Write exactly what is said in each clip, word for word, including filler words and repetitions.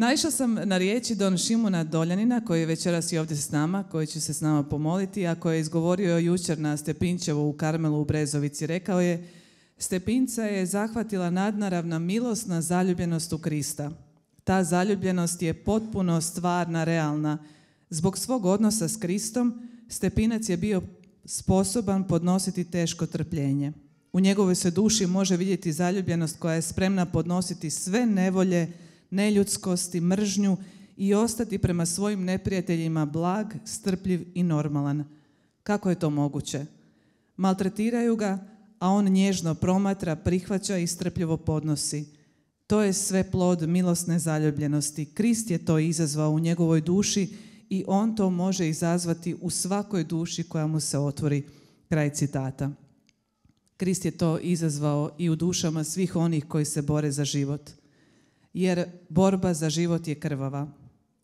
Naišla sam na riječi Don Šimuna Doljanina, koji je večeras i ovdje s nama, koji će se s nama pomoliti, a koji je izgovorio jučer na Stepinčevu u Karmelu u Brezovici. Rekao je: Stepinca je zahvatila nadnaravna milosna zaljubljenost u Krista. Ta zaljubljenost je potpuno stvarna, realna. Zbog svog odnosa s Kristom, Stepinac je bio sposoban podnositi teško trpljenje. U njegovoj se duši može vidjeti zaljubljenost koja je spremna podnositi sve nevolje, neljudskosti, mržnju i ostati prema svojim neprijateljima blag, strpljiv i normalan. Kako je to moguće? Maltretiraju ga, a on nježno promatra, prihvaća i strpljivo podnosi. To je sve plod milosne zaljubljenosti. Krist je to izazvao u njegovoj duši i on to može izazvati u svakoj duši koja mu se otvori. Kraj citata. Krist je to izazvao i u dušama svih onih koji se bore za život. Jer borba za život je krvava.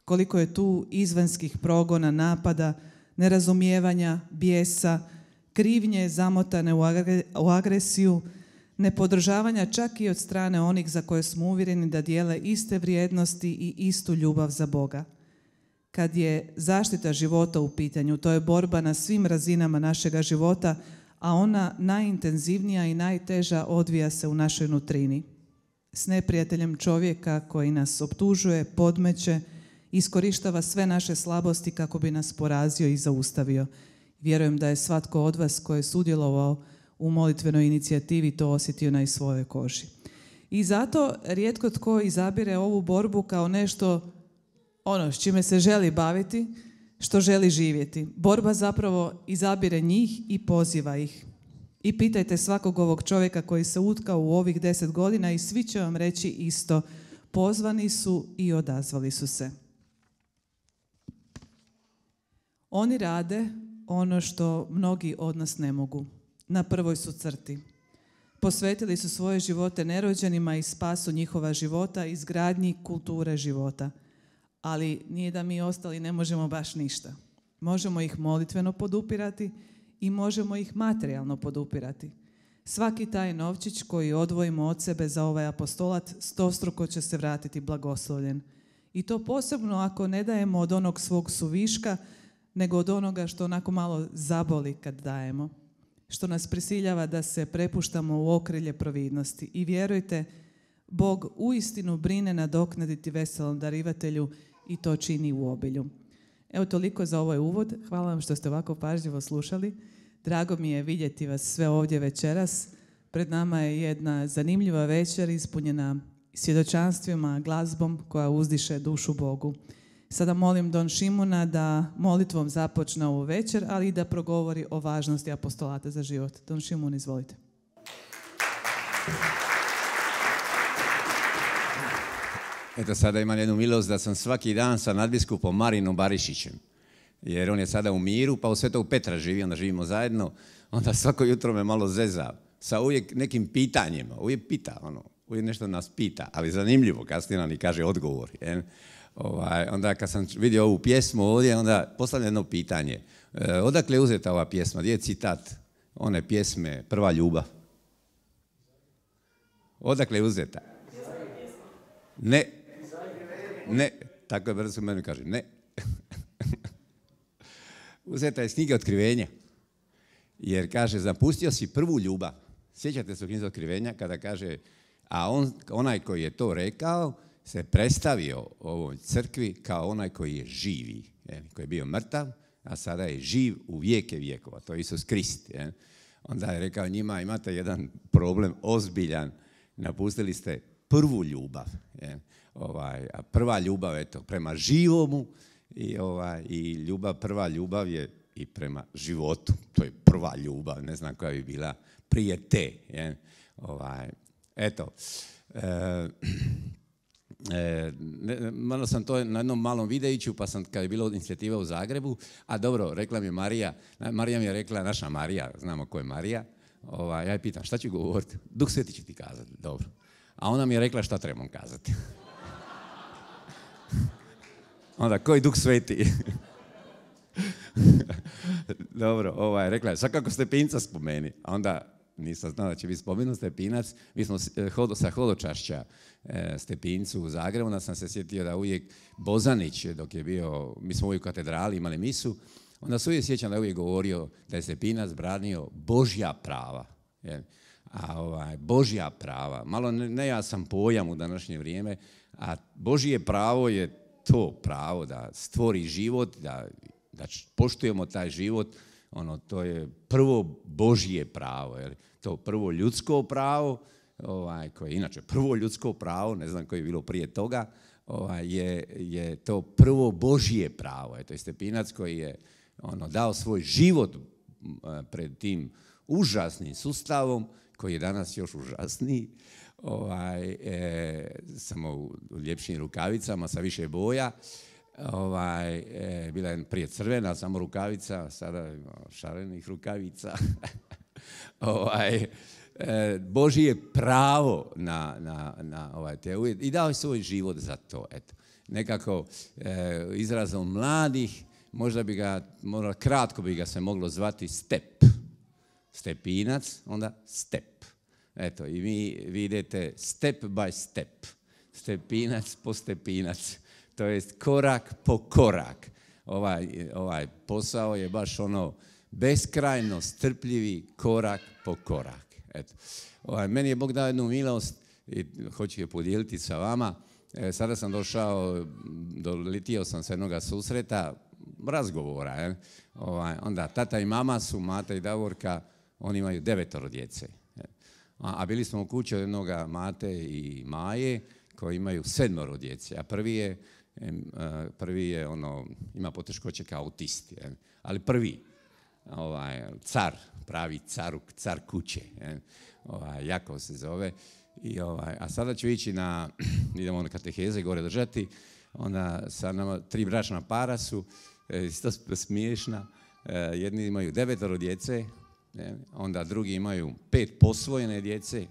Koliko je tu izvanjskih progona, napada, nerazumijevanja, bijesa, krivnje zamotane u agresiju, nepodržavanja čak i od strane onih za koje smo uvjereni da dijele iste vrijednosti i istu ljubav za Boga. Kad je zaštita života u pitanju, to je borba na svim razinama našega života, a ona najintenzivnija i najteža odvija se u našoj nutrini. S neprijateljem čovjeka koji nas optužuje, podmeće, iskorištava sve naše slabosti kako bi nas porazio i zaustavio. Vjerujem da je svatko od vas koji je sudjelovao u molitvenoj inicijativi to osjetio na i svojoj koži. I zato rijetko tko izabire ovu borbu kao nešto ono s čime se želi baviti, što želi živjeti. Borba zapravo izabire njih i poziva ih. I pitajte svakog ovog čovjeka koji se utkao u ovih deset godina i svi će vam reći isto. Pozvani su i odazvali su se. Oni rade ono što mnogi od nas ne mogu. Na prvoj su crti. Posvetili su svoje živote nerođenima i spasu njihova života, izgradnji kulture života. Ali nije da mi ostali ne možemo baš ništa. Možemo ih molitveno podupirati i možemo ih materijalno podupirati. Svaki taj novčić koji odvojimo od sebe za ovaj apostolat stostruko će se vratiti blagoslovljen. I to posebno ako ne dajemo od onog svog suviška, nego od onoga što onako malo zaboli kad dajemo. Što nas prisiljava da se prepuštamo u okrilje providnosti. I vjerujte, Bog uistinu brine nadoknaditi veselom darivatelju i to čini u obilju. Evo toliko za ovaj uvod. Hvala vam što ste ovako pažljivo slušali. Drago mi je vidjeti vas sve ovdje večeras. Pred nama je jedna zanimljiva večer ispunjena svjedočanstvima, glazbom koja uzdiše dušu Bogu. Sada molim Don Šimuna da molitvom započne ovu večer, ali i da progovori o važnosti apostolata za život. Don Šimun, izvolite. Eto, sada imam jednu milost da sam svaki dan sa nadbiskupom Marinom Barišićem. Jer on je sada u miru, pa u Svetog Petra živi, onda živimo zajedno. Onda svako jutro me malo zeza sa uvijek nekim pitanjima. Uvijek pita, ono, uvijek nešto nas pita, ali zanimljivo, kasnije nam i kaže odgovor. Je. Ovaj, onda kad sam vidio ovu pjesmu ovdje, onda postavljam jedno pitanje. E, odakle je uzeta ova pjesma? Gdje je citat one pjesme Prva ljubav? Odakle je uzeta? Ne. Ne. Tako je brzo meni kaže. Ne. Uzeta je iz knjige Otkrivenja. Jer kaže, zapustio si prvu ljubav. Sjećate se u knjizi Otkrivenja kada kaže, a on, onaj koji je to rekao se predstavio ovoj crkvi kao onaj koji je živi, je, koji je bio mrtav, a sada je živ u vijeke vijekova. To je Isus Krist. Je. Onda je rekao njima, imate jedan problem ozbiljan, napustili ste prvu ljubav. Je. Ovaj, a prva ljubav eto, prema živomu i, ovaj, i ljubav, prva ljubav je i prema životu. To je prva ljubav, ne znam koja bi bila prije te. Je. Ovaj, eto, e, E, ne, malo sam to na jednom malom videiću, pa sam kad je bilo inicijativa u Zagrebu, a dobro, rekla mi je Marija, Marija mi je rekla, naša Marija, znamo ko je Marija, ovaj, ja je pitam šta ću govoriti, Duh Sveti će ti kazati, dobro. A ona mi je rekla šta trebam kazati. Onda, koji Duh Sveti? Dobro, ovaj, rekla je, sad kako Stepinca spomeni, a onda nisam znao da će biti spomenut Stepinac. Mi smo hodo, sa hodočašća e, Stepincu u Zagrebu, onda sam se sjetio da uvijek Bozanić, dok je bio, mi smo uvijek u katedrali imali misu, onda se uvijek sjećam da je uvijek govorio da je Stepinac branio Božja prava. Jel? A ovaj, Božja prava, malo nejasan pojam u današnje vrijeme, a Božje pravo je to pravo da stvori život, da, da poštujemo taj život, ono, to je prvo Božje pravo, jer to prvo ljudsko pravo, ovaj, koje je inače prvo ljudsko pravo, ne znam koje je bilo prije toga, ovaj, je, je to prvo Božje pravo. To je Stepinac koji je ono, dao svoj život pred tim užasnim sustavom, koji je danas još užasniji, ovaj, e, samo u ljepšim rukavicama sa više boja. Ovaj, e, bila je prije crvena samo rukavica, sada ima šarenih rukavica. ovaj, e, Božje pravo na, na, na ovaj, te uvjete i dao je svoj život za to. Eto. Nekako e, izrazom mladih, možda bi ga, možda kratko bi ga se moglo zvati Step. Stepinac, onda Step. Eto, i vi vidite step by step. Stepinac po stepinac. To jest korak po korak. Ovaj, ovaj posao je baš ono beskrajno strpljivi korak po korak. Eto. Ovaj, meni je Bog dao jednu milost i hoću je podijeliti sa vama. E, sada sam došao, doletio sam sa jednog susreta, razgovora. Je. Ovaj, onda tata i mama su, Mata i Davorka, oni imaju devetoro djece. A, a bili smo u kući od jednog Mate i Maje koji imaju sedmoro djece. A prvi je, prvi je ono, ima poteškoće kao autist. Je. Ali prvi, ovaj, car, pravi car, car kuće. Je. Ovaj, Jakov se zove. I, ovaj, a sada ću ići na, idemo na kateheze gore držati. Onda sa nama tri bračna para su, isto smiješna. Jedni imaju devetoro djece, ne? Onda drugi imaju pet posvojene djece,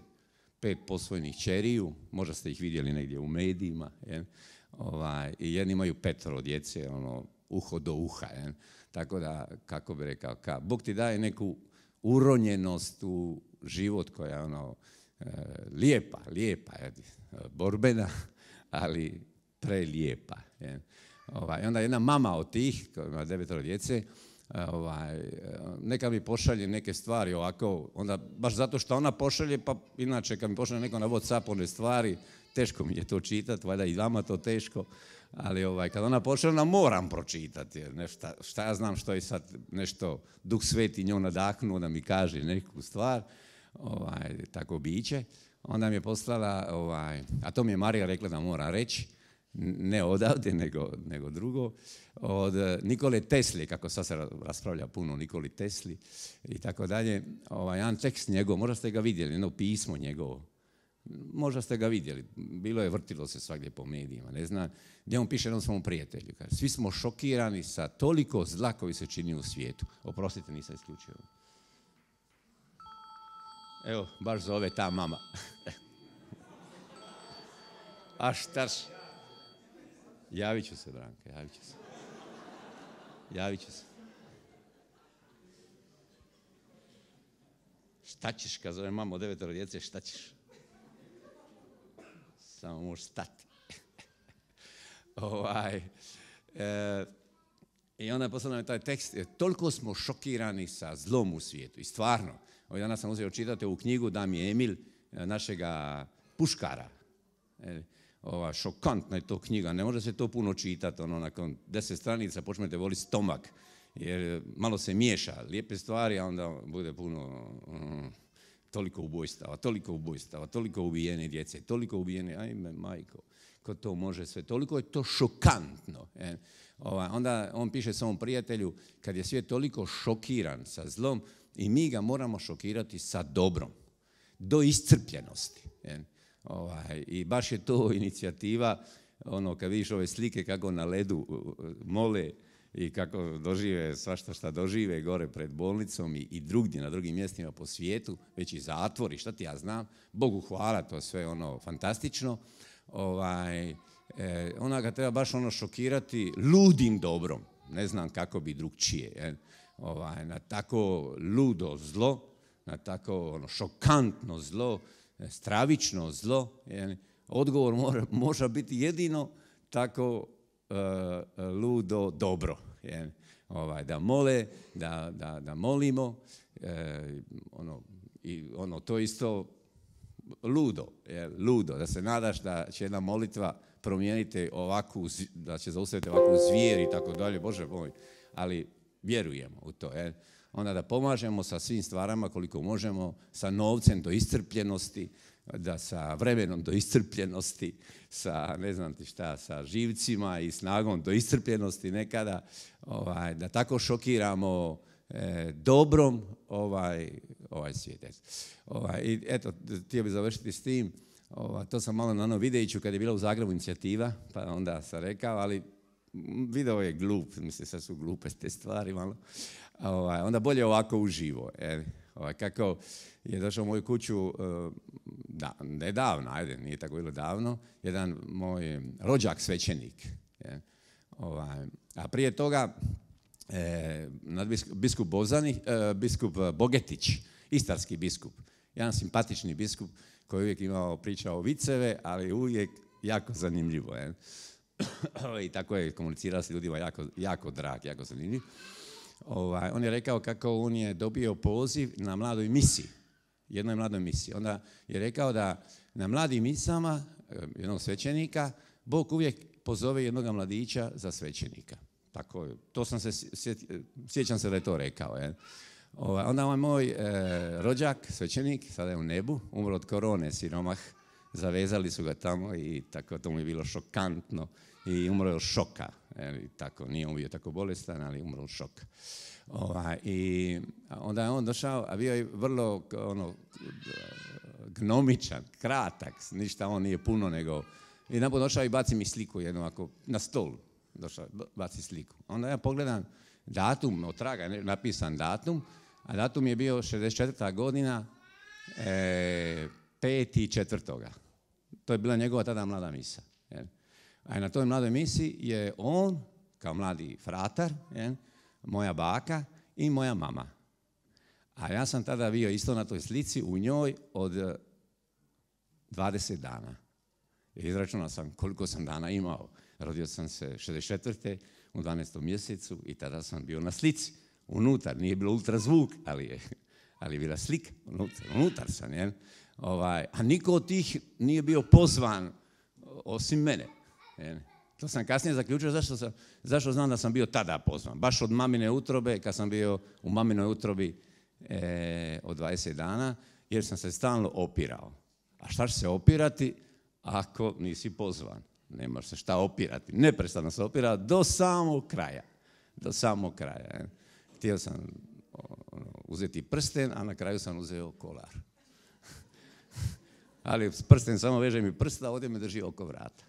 pet posvojenih ćeriju, možda ste ih vidjeli negdje u medijima. Je? Ovaj, i jedni imaju petoro djece, ono, uho do uha. Je? Tako da, kako bi rekao, ka, Bog ti daje neku uronjenost u život koja je ono, e, lijepa, lijepa, je, borbena, ali prelijepa. Je? Ovaj, onda jedna mama od tih, koja ima devetoro djece, ovaj, neka mi pošalje neke stvari ovako, onda baš zato što ona pošalje, pa inače kad mi pošalje neko na WhatsApp one stvari, teško mi je to čitati, valjda i vama to teško, ali ovaj, kad ona pošalje, onda moram pročitati, jer nešta, šta ja znam što je sad nešto Duh Sveti njoj nadahnuo da mi kaže neku stvar, ovaj, tako biće. Onda mi je poslala, ovaj, a to mi je Marija rekla da moram reći, ne odavde, nego, nego drugo, od Nikole Tesli, kako sad se raspravlja puno o Nikoli Tesli i tako dalje, ovaj, jedan tekst njegov, možda ste ga vidjeli, jedno pismo njegovo, možda ste ga vidjeli, bilo je, vrtilo se svagdje po medijima, ne znam, gdje on piše jednom svom prijatelju, kaže, svi smo šokirani sa toliko zla koji se čini u svijetu. Oprostite, nisam isključio. Evo, baš zove ta mama. A štaš? Javit ću se, Branka, javit ću se. Javit ću se. Šta ćeš, kad zove mamo devetoro djece, šta ćeš? Samo možeš stati. ovaj, e, I onda je poslao taj tekst, toliko smo šokirani sa zlom u svijetu. I stvarno, ovaj danas sam uzeo čitati ovu knjigu Damije Emil, našega puškara. E, Ova, šokantna je to knjiga, ne može se to puno čitati, ono, nakon deset stranica počnete voliti stomak, jer malo se miješa lijepe stvari, a onda bude puno, um, toliko ubojstava, toliko ubojstava, toliko ubijene djece, toliko ubijene, ajme majko, ko to može sve, toliko je to šokantno. Je. Ova, onda on piše svom prijatelju, kad je svijet toliko šokiran sa zlom, i mi ga moramo šokirati sa dobrom, do iscrpljenosti. Je. Ovaj, I baš je to inicijativa, ono, kad vidiš ove slike kako na ledu mole i kako dožive svašta šta dožive gore pred bolnicom i, i drugdje na drugim mjestima po svijetu, već i zatvori, šta ti ja znam, Bogu hvala, to sve ono fantastično. Ovaj, e, ona ga treba baš ono šokirati ludim dobrom, ne znam kako bi drugčije, je. Ovaj, na tako ludo zlo, na tako ono, šokantno zlo, stravično zlo, je, odgovor mora, može biti jedino tako uh, ludo dobro. Je, ovaj, da mole, da, da, da molimo, e, ono, i ono, to isto ludo, je, ludo, da se nadaš da će jedna molitva promijeniti ovakvu, da će zaustaviti ovakvu zvijer i tako dalje, Bože moj, ali vjerujemo u to. Je. Onda da pomažemo sa svim stvarama koliko možemo, sa novcem do iscrpljenosti, da sa vremenom do iscrpljenosti, sa ne znam ti šta, sa živcima i snagom do iscrpljenosti nekada, ovaj, da tako šokiramo e, dobrom ovaj, ovaj svijet. Ovaj, i eto, htio bih završiti s tim, ovaj, to sam malo na onom videiću kad je bila u Zagrebu inicijativa, pa onda sam rekao, ali video je glup, mislim sad su glupe te stvari malo, ovaj, onda bolje ovako uživo. Je. Ovaj, kako je došao u moju kuću da, nedavno, ajde, nije tako bilo davno, jedan moj rođak svećenik. Je, ovaj, a prije toga e, biskup Bozani, e, biskup Bogetić, istarski biskup, jedan simpatični biskup koji uvijek imao pričao viceve, ali uvijek jako zanimljivo. Je. I tako je komunicirao s ljudima jako, jako drag, jako zanimljiv. Ovaj, on je rekao kako on je dobio poziv na mladoj misiji, jednoj mladoj misiji. Onda je rekao da na mladim misama jednog svećenika Bog uvijek pozove jednog mladića za svećenika. Tako, to sam se sjećam se da je to rekao. Je. Ovaj, onda ovaj moj e, rođak, svećenik, sada je u nebu, umro od korone, siromah, zavezali su ga tamo i tako to mu je bilo šokantno. I umro je od šoka. E, tako, nije on bio tako bolestan, ali umro od šoka. Ovaj, I onda je on došao, a bio je vrlo ono, gnomičan, kratak, ništa on nije puno nego... I napod došao i baci mi sliku jednu ovako, na stol. Došao, baci sliku. Onda ja pogledam datum, od traga je napisan datum, a datum je bio šezdeset četvrta godina, e, peti četvrtoga. To je bila njegova tada mlada misa. Je. A na toj mladoj misiji je on, kao mladi fratar, je, moja baka i moja mama. A ja sam tada bio isto na toj slici u njoj od dvadeset dana. Izračunao sam koliko sam dana imao. Rodio sam se šezdeset četvrte u dvanaestom mjesecu i tada sam bio na slici. Unutar, nije bilo ultrazvuk, ali je, ali je bila slika. Unutar, unutar sam, je. Ovaj, a niko od tih nije bio pozvan osim mene. Je. To sam kasnije zaključio zašto, sam, zašto znam da sam bio tada pozvan. Baš od mamine utrobe, kad sam bio u maminoj utrobi e, od dvadeset dana, jer sam se stalno opirao. A šta će se opirati ako nisi pozvan? Nemaš se šta opirati. Neprestano se opira do samog kraja. Do samog kraja. Je. Htio sam ono, uzeti prsten, a na kraju sam uzeo kolar. Ali prsten samo veže mi prsta, ovdje me drži oko vrata.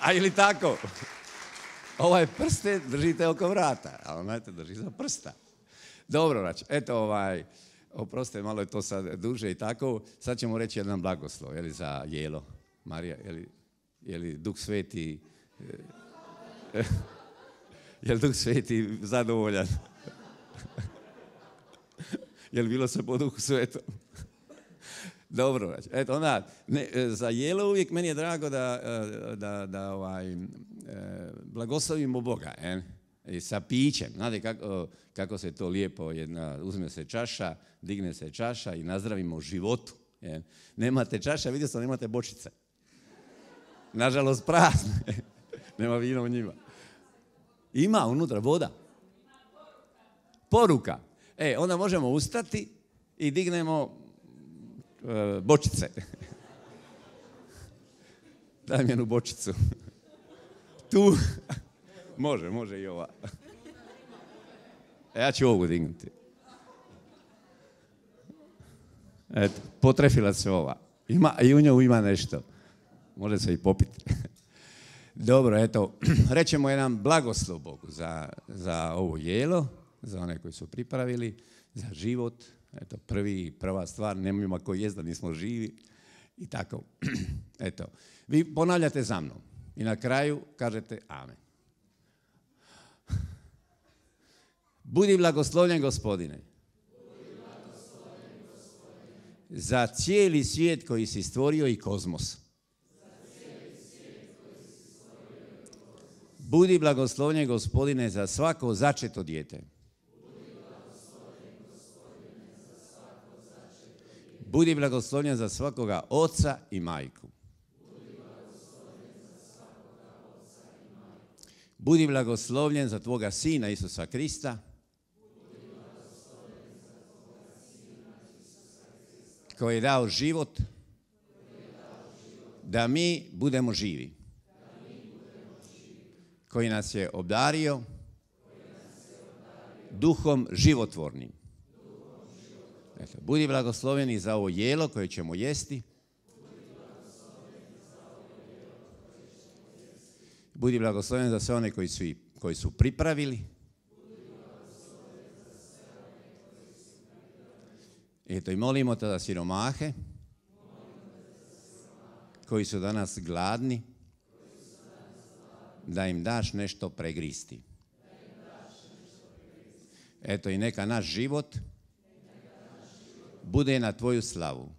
A ili tako? Ovaj prsten držite oko vrata, a onaj te drži za prsta. Dobro, znači, eto ovaj, oprostite, malo je to sad duže i tako. Sad ćemo reći jedan blagoslov, je li za jelo. Marija, je li, je li Duh Sveti, je li Duh Sveti zadovoljan? Je li bilo se po Duhu Svetom? Dobro, znači, eto onda, ne, za jelo uvijek meni je drago da, da, da ovaj, blagoslovimo Boga, eh? I sa pićem. Znate kako, kako se to lijepo, jedna, uzme se čaša, digne se čaša i nazdravimo životu. Eh? Nemate čaša, vidio sam, nemate bočice. Nažalost, prazne. Nema vina u njima. Ima unutra voda. Poruka. E, onda možemo ustati i dignemo e, bočice. Daj mi jednu bočicu. Tu. Može, može i ova. E, ja ću ovu dignuti. Eto, potrefila se ova. Ima, i u njoj ima nešto. Može se i popiti. Dobro, eto, rećemo jedan blagoslov Bogu za, za ovo jelo, za one koji su pripravili, za život. Eto, prvi, prva stvar, nemojmo ako jest da nismo živi i tako. Eto, vi ponavljate za mnom i na kraju kažete amen. Budi blagoslovljen, Gospodine, za cijeli svijet koji si stvorio i kozmos. Budi blagoslovljen, Gospodine, za svako začeto dijete. Budi blagoslovljen za svakoga oca i majku. Budi blagoslovljen za tvoga Sina Isusa Krista, koji je dao život da mi budemo živi, koji nas je obdario duhom životvornim. Eto, budi blagosloveni za ovo jelo koje ćemo jesti. Budi blagosloven za sve one koji su, koji su pripravili. Eto, i molimo te za siromahe koji su danas gladni, da im daš nešto pregristi. Eto, i neka naš život bude na tvoju slavu,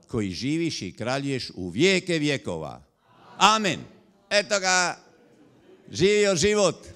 koji živiš i kraljuješ u vijeke vjekova. Amen. Eto ga, živio život.